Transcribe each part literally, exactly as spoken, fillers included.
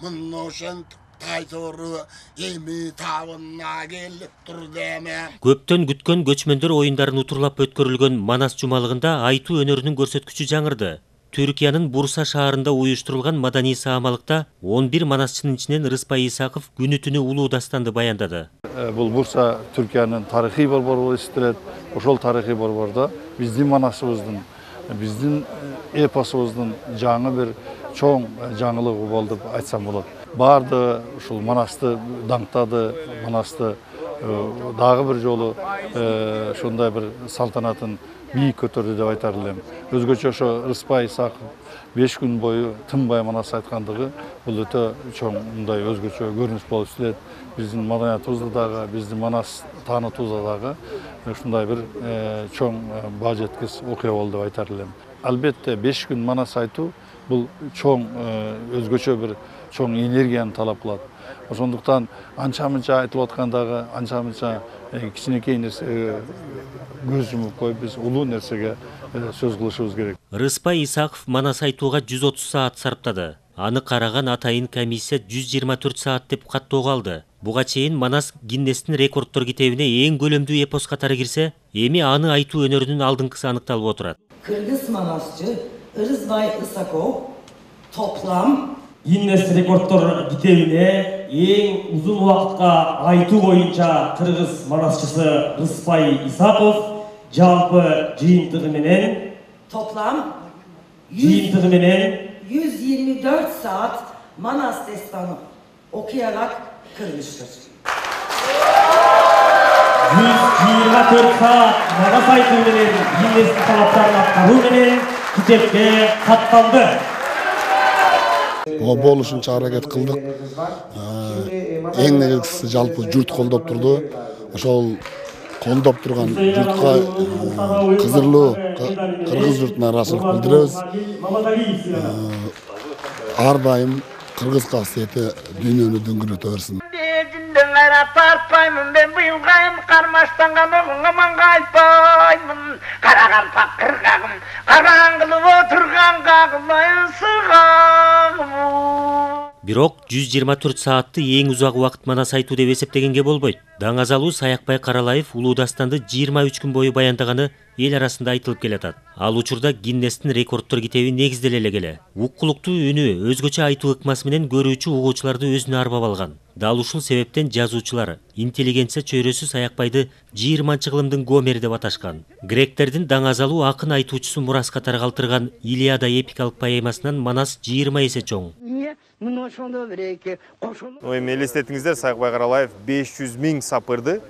Мыношен тайтору эми табына келип тур деме. Көптөн күткөн көчмөндөр оюндарын утурлап өткөрүлгөн Манас жумалыгында айтуу өнөрүнүн көрсөткүчү жаңырды. Түркиянын Бурса шаарында уюштурулган маданий саамалыкта он бир манасчынын ичинен Рыспай Исаков күнү түнү улуу дастанды баяндады. Бул Бурса Түркиянын тарыхый борбору болуп эсептелет. Ошол тарыхый борбордо биздин манасыбыздын, биздин эпосубуздун жаңы бир чоң жаңылыгы болду деп айтсам болот. Барды ушул Манасты даңктады, Манасты дагы бир жолу ушундай бир салтанатын бийик көтөрдү деп айтар элем. Өзгөчө ошо Рыспай Исаков беш күн бою тынбай Манас айткандыгы бул өтө чоң мындай өзгөчө көрүнүш болуп эсептелет. Биздин маданиятыбызда дагы, биздин Манас таанытуубузда дагы ушундай бир чоң баа жеткис окуя болду деп айтар элем. Албетте беш күн Манас айтуу бул чоң өзгөчө бир чоң энергияны талап кылат. Ошондуктан анча-мынча айтылып аткандагы анча-мынча кичинекей нерсеге көз жумуп коюп биз улуу нерсеге сөз кылышыбыз керек. Рыспай Исаков Манас айтууга жүз отуз саат сарптады. Аны караган атайын комиссия жүз жыйырма төрт саат деп каттоого алды. Буга чейин Манас Гиннестин рекорддор китебине эң көлөмдүү эпос катары кирсе, эми аны айтуу өнөрүнүн алдыңкысы аныкталып отурат. Кыргыз манасчы Рыспай Исаков топлам Гиннес рекорддор китебине эң узун убакытка айтуу боюнча кыргыз манасчысы Рыспай Исаков жалпы жыйынтыгы менен топлам жыйынтыгы менен yüz yirmi dört saat Manas destanı okuyarak kırmıştır. yüz yirmi dört saat Manas айтуу менен Гиннес талаптарын аткаруу менен китепке катталды. О болушунча аракет кылдык. Эң негизгиси жалпы журт колдоп турду. Ошол колдоп турган журтка кызырлуу кыргыз журтуна ыраазычылык билдиребиз. Ар дайым кыргыз касиети дүйнөнү дөңгөлөтө берсин. Тартпаймын мен быйылгайым кармаштанган оңуңаманга айтпаймын. Караган пакыргагым, караңгылып отурган кагылайын сыргагым. Бирок жүз жыйырма төрт саатты эң узак убакыт Манас айтуу деп эсептегенге болбойт. Даңазалуу Саякбай Каралаев улуу дастанды жыйырма үч күн бою баяндаганы эл арасында айтылып келатат. Ал учурда Гиннестин рекорддор китеби негизделе эле келе. Уккулуктуу үнү, өзгөчө айтуу ыкмасы менен көрүүчү угуучуларды өзүнө арбап алган. Дал ушул себептен жазуучулар интеллигенция чөйрөсү Саякбайды жыйырманчы кылымдын Гомери деп аташкан. Гректердин даңазалуу акын айтуучусу Мурас катары калтырган Илиада эпикалык поэмасынан Манас жыйырма эсе чоң. Эми элестетиңиздер, Саякбай Каралаев беш жүз миң сапырды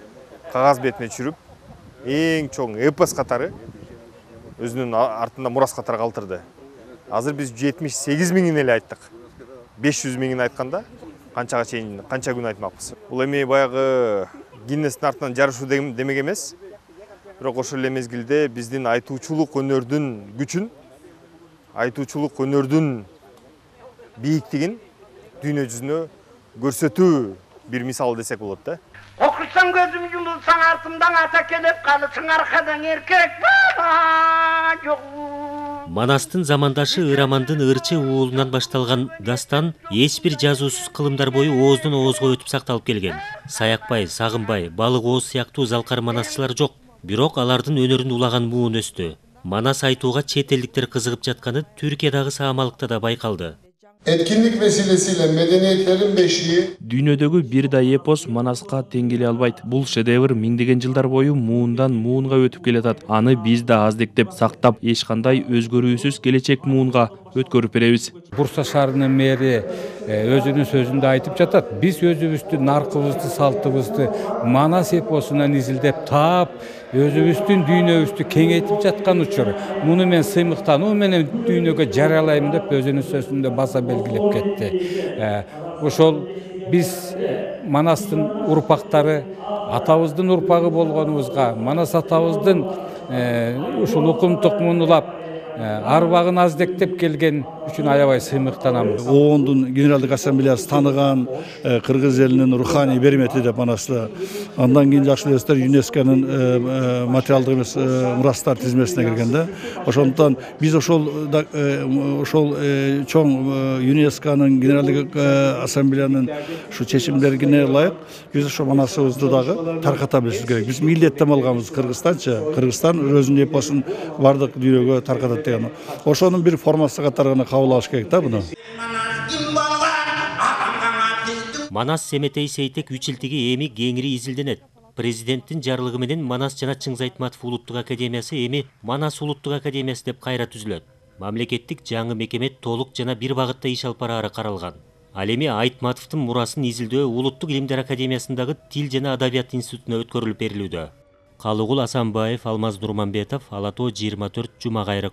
кагаз бетине түшүрүп, эң чоң эпос катары өзүнүн артында Мурас катары калтырды. Азыр биз жетимиш сегиз миңин эле айттык. беш жүз миңин айтканда канчага чейин канча күн айтмакпыз. Бул эми баягы Гиннестин артынан жарышуу демек эмес. Бирок ошол эле мезгилде биздин айтуучулук өнөрдүн күчүн, айтуучулук өнөрдүн бийиктигин дүйнө жүзүнө көрсөтүү бир мисал десек болот да. Окусаң көзүм жумулсаң артымдан ата келип калысың аркадан эркек бала жок. Манастын замандашы Ырамандын ырчы уулунан башталган дастан эч бир жазуусуз кылымдар бою ооздон оозго өтүп сакталып келген. Саякбай, Сагынбай, Балык ооз сыяктуу залкар манасчылар жок. Бирок алардын өнөрүн улаган муун өстү. Манас айтууга чет элдиктер кызыгып жатканы Түркиядагы саамалыкта да байкалды. Etkinlik vesilesiyle medeniyetlerin beşiği Дүйнөдөгү бир да эпос Манаска тең келе албайт. Бул шедевр миңдеген жылдар бою муундан муунга өтүп келатат. Аны биз да аздектеп сактап, эч кандай өзгөрүүсүз келечек муунга өткөрүп беребиз. Бурса шаарынын мэри өзүнүн сөзүндө айтып жатат. Биз өзүбүздүн наркыбызды, салтыбызды Манас эпосунан изилдеп таап, өзүбүздүн дүйнөбүздү кеңейтип жаткан учур. Муну мен сыймыктануу менен дүйнөгө жарыялайм деп өзүнүн сөзүндө баса белгилеп кетти. Ошол биз Манастын урпактары, атабыздын урпагы болгонубузга, Манас атабыздын ушул укум тукумун улап арбагын аздектеп келген үчүн аябай сыймыктанабыз. оондун генералдык ассамблеясы тааныган кыргыз элинин руханий бермети деп манасы. Андан кийин жакшы билесиздер, ЮНЕСКОнун материалдык эмес мурастар тизмесине киргенде. Ошондуктан биз ошол ошол чоң ЮНЕСКОнун генералдык ассамблеянын ушу чечимдерине ылайык биз ошо манасыбызды дагы тарката билишибиз керек. Биз милдеттем алганбыз Кыргызстанчы. Кыргызстан өзүнүн эпосун бардык дүйнөгө таркатат деген. Ошонун бир формасы катары гана кабыл алыш керек да буну. Манас Семетей Сейтек үчилтиги эми кеңири изилденет. Президенттин жарлыгы менен Манас жана Чыңгыз Айтматов улуттук академиясы эми Манас улуттук академиясы деп кайра түзүлөт. Мамлекеттик жаңы мекеме толук жана бир багытта иш алып бараары каралган. Ал эми Айтматовдун мурасын изилдөө Улуттук илимдер академиясындагы Тил жана адабият институтуна өткөрүлүп берилүүдө. Калыгул Асанбаев, Алмаз Нурманбетов, Ала тоо жыйырма төрт, Жума кайрык.